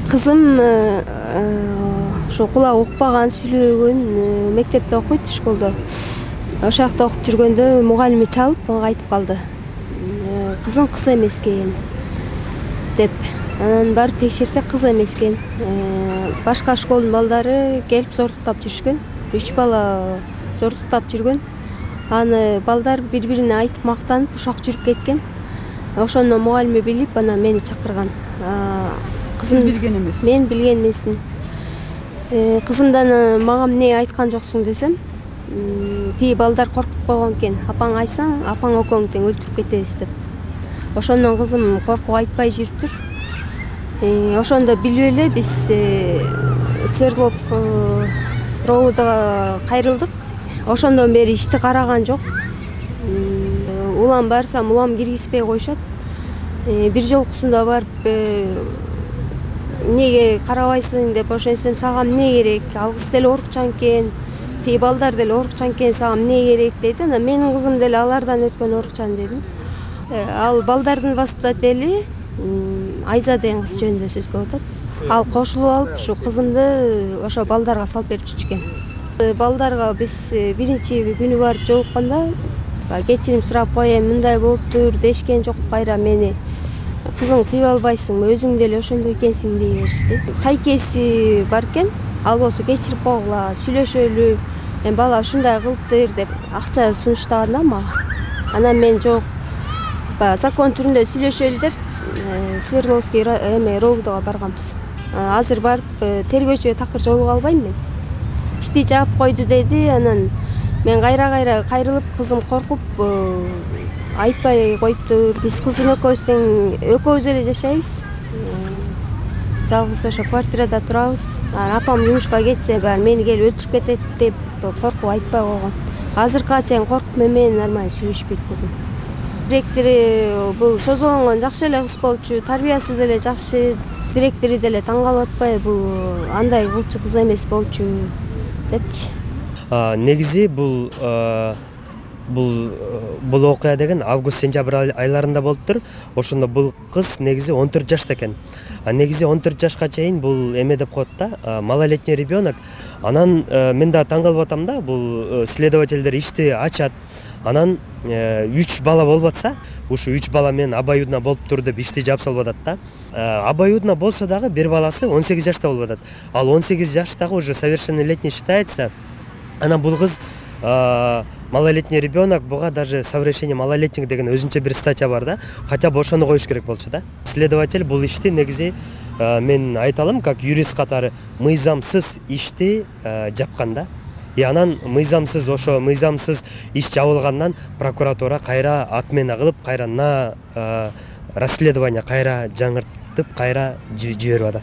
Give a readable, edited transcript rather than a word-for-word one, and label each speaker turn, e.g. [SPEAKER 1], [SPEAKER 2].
[SPEAKER 1] Кызым ошо кулагы укпаган, сүйлөбөгөн, мектепте окуйт, школдо. Ошол жакта окуп жүргөндө мугалими чалып мага айтып калды. Кызың кыз эмес экен деп. Анан барып текшерсек кыз эмес экен. Башка школдун балдары келип зортуктап жүрүшкөн. 3 бала зортуктап жүргөн. Аны балдар бири-бирине айтып мактанып ушак жүрүп кеткен. Ошондон мугалими билип, анан мени чакырган.
[SPEAKER 2] Сиз билген эмес?
[SPEAKER 1] Мен билген эмесмин. Кызымдан мага эмне айткан жоксуң десем, тиги балдар коркутуп койгон экен. Апаң айтсаң, апаң экөөң тең өлтүрүп кетебиз деп. Ошондон кызым коркуп айтпай жүрүптүр. Ошондо билип эле биз Свердлов РОУга кайрылдык. Ошондон бери ишти караган жок. Улам барсам, улам киргизбей коюшат. Бир жолкусунда барып эмнеге карабайсың деп ошентсем, сага эмне керек? Алгыс деле орукчан экен. Тиги балдар деле орукчан экен, сага эмне керек дейт. Анан менин кызым деле алардан өткөн орукчан дедим. Ал балдардын воспитатели Айза деген кыз жөнүндө сөз болуп атат. Ал кошулуп алып, ушу кызымды ошо балдарга салып берип жүрчү экен. Балдарга биз биринчи күнү барып жолукканда кечирим сурап коеюн, мындай болуптур дешкен жок. Кайра мени кызың тийип албайсыңбы, өзүң деле ошондой экенсиң дей беришти. Тайкеси бар экен, ал болсо кечирип койгула, сүйлөшөлү, бала ушундай кылыптыр деп акча сунуштаган да мага. Анан мен жок, закон түрүндө сүйлөшөлү деп Свердловский РОУга барганбыз. Азыр барып тергөөчүгө такыр жолуга албайм мен. Ишти жаап койду деди. Анан мен кайра кайрылып, кызым коркуп айтпай коюптур. Биз кызым экөөбүз тең, экөөбүз эле жашайбыз. Жалгыз ошо квартирада турабыз. Апам жумушка кетсе, баары мени келип өлтүрүп кетет деп коркуп айтпай койгон. Азыркыга чейин коркуп менен нормально сүйлөшпөйт кызым. Директору бул созолонгон жакшы эле кыз болчу, тарбиясы деле жакшы, директору деле таң калып атпай, бул андай кылчу кыз эмес болчу депчи.
[SPEAKER 3] Негизи бул окуя деген август-сентябрь айларында болуптур. Ошондо бул кыз негизи 14 жашта экен. Негизи 14 жашка чейин бул эме деп коет да, малолетний ребенок. Анан мен да таң калып атам да, бул следовательдер ишти ачат. Анан 3 бала болуп атса, ушу 3 бала менен обоюдно болуптур деп ишти жаап салып атат да. Обоюдно болсо дагы бир баласы 18 жашта болуп атат. Ал 18 жаштагы уже совершеннолетний считается. Анан бул кыз малолетний ребенок, буга даже совращение малолетних деген өзүнчө бир статья бар да. Хотя бы ошону коюш керек болчу да. Следователь бул ишти негизи мен айта алам, как юрист катары мыйзамсыз ишти жапкан да. Анан мыйзамсыз иш жабылгандан прокуратура кайра отмена кылып, кайра на расследование кайра жаңыртып, кайра жиберип атат.